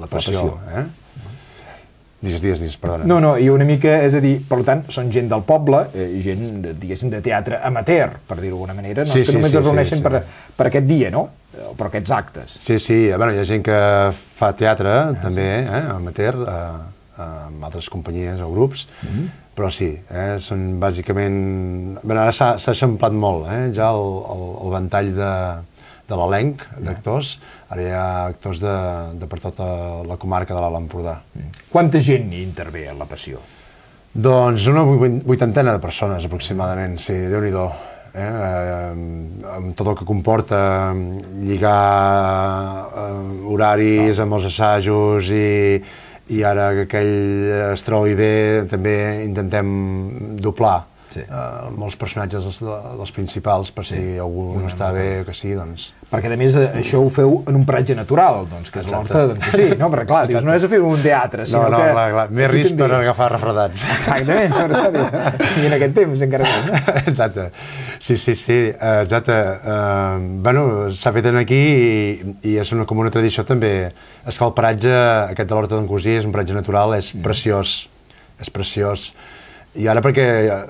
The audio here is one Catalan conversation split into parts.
la passió. Digues, perdona. No, i una mica, és a dir, per tant, són gent del poble, gent, diguéssim, de teatre amateur, per dir-ho d'alguna manera, que només es reuneixen per aquest dia, no? O per aquests actes. Sí, hi ha gent que fa teatre, també, amateur, amb altres companyies o grups, però sí, són bàsicament... Ara s'ha eixamplat molt, ja el ventall de l'elenc d'actors, ara hi ha actors de per tota la comarca de l'Alt Empordà. Quanta gent hi intervé a La Passió? Doncs una 80 de persones aproximadament, sí, Déu-n'hi-do. Amb tot el que comporta lligar horaris amb els assajos i ara que aquell es trobi bé també intentem doblar molts personatges dels principals per si algú no està bé o que sí, doncs... Perquè a més això ho feu en un paratge natural, doncs, que és l'Horta d'en Cosí, no? Perquè clar, dius, no és a fer un teatre, sinó que... No, clar, més risc per agafar refredats. Exactament, i en aquest temps encara més, no? Exacte, sí, exacte. Bueno, s'ha fet aquí i és com una tradició també. És que el paratge, aquest de l'Horta d'en Cosí, és un paratge natural, és preciós, I ara perquè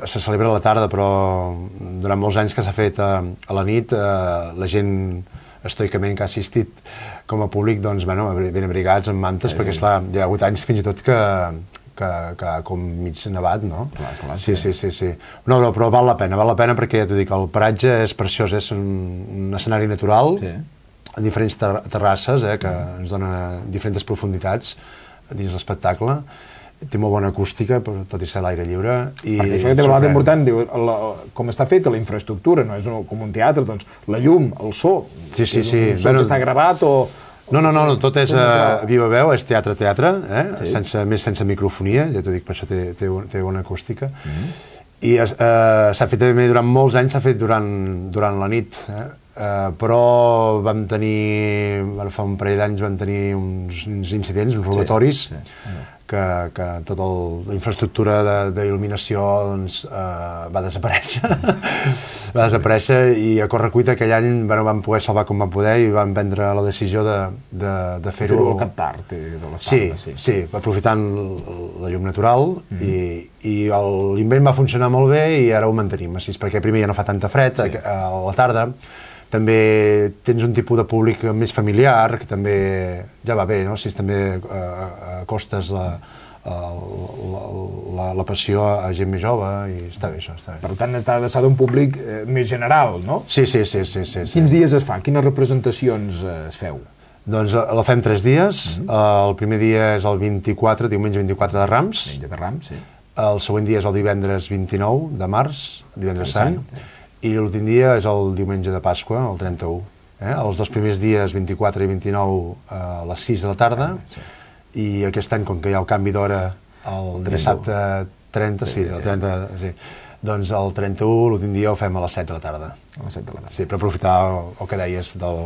se celebra a la tarda, però durant molts anys que s'ha fet a la nit, la gent estoicament que ha assistit com a públic, doncs, ben abrigats amb mantes, perquè, esclar, hi ha hagut anys fins i tot que com mig nevat, no? Sí. No, però val la pena perquè, ja t'ho dic, el paratge és preciós, és un escenari natural, amb diferents terrasses, que ens dona diferents profunditats dins l'espectacle. Té molt bona acústica, tot i ser a l'aire lliure. Perquè això que té molt important, com està feta la infraestructura, no és com un teatre, doncs la llum, el so, sí. Un so que està gravat o... No, tot és viva veu, és teatre, sense microfonia, ja t'ho dic, per això té bona acústica. I s'ha fet també durant molts anys, s'ha fet durant la nit, però vam tenir, fa un parell d'anys vam tenir uns incidents, uns robatoris, que tota la infraestructura d'il·luminació va desaparèixer i a correcuita aquell any vam poder salvar com vam poder i vam prendre la decisió de fer-ho aquest tard de les fandes. Sí, aprofitant la llum natural i l'invent va funcionar molt bé i ara ho mantenim, perquè primer ja no fa tanta fred a la tarda. També tens un tipus de públic més familiar, que també ja va bé, no? Si també acostes la passió a gent més jove i està bé això. Per tant, està adreçat a un públic més general, no? Sí. Quins dies es fa? Quines representacions es feu? Doncs la fem 3 dies. El primer dia és el 24, diumenge 24 de Rams. Diumenge de Rams, sí. El següent dia és el divendres 29 de març, divendres Sant. I l'últim dia és el diumenge de Pasqua, el 31. Els 2 primers dies, 24 i 29, a les 6 de la tarda, i aquest any, com que hi ha el canvi d'hora, el dissabte 30, doncs el 31, l'últim dia ho fem a les 7 de la tarda. A les 7 de la tarda. Sí, per aprofitar el que deies del...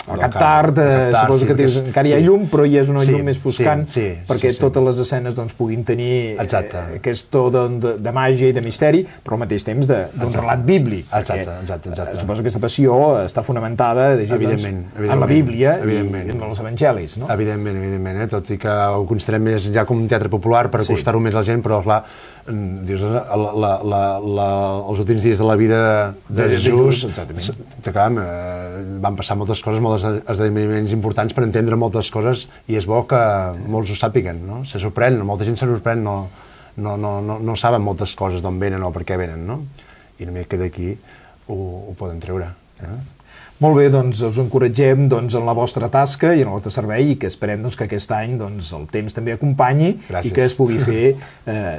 Al cap tard, suposo que encara hi ha llum, però hi és una llum més foscant, perquè totes les escenes puguin tenir aquest to de màgia i de misteri, però al mateix temps d'un relat bíblic. Exacte. Suposo que aquesta passió està fonamentada en la Bíblia i en els evangelis, no? Evidentment, tot i que ho considerem més ja com un teatre popular per acostar-ho més a la gent, però clar, els últims dies de la vida de Jesús van passar moltes coses, molts esdeveniments importants per entendre moltes coses, i és bo que molts ho sàpiguen, no? Se sorprèn, molta gent se sorprèn, no saben moltes coses d'on venen o per què venen, no? I només que d'aquí ho poden treure. Molt bé, doncs us encoratgem en la vostra tasca i en el vostre servei, i que esperem que aquest any el temps també acompanyi i que es pugui fer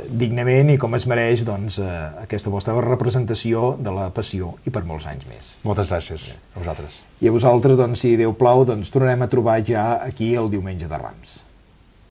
dignament i com es mereix aquesta vostra representació de la passió i per molts anys més. Moltes gràcies a vosaltres. I a vosaltres, si Déu plau, tornarem a trobar ja aquí el diumenge de Rams.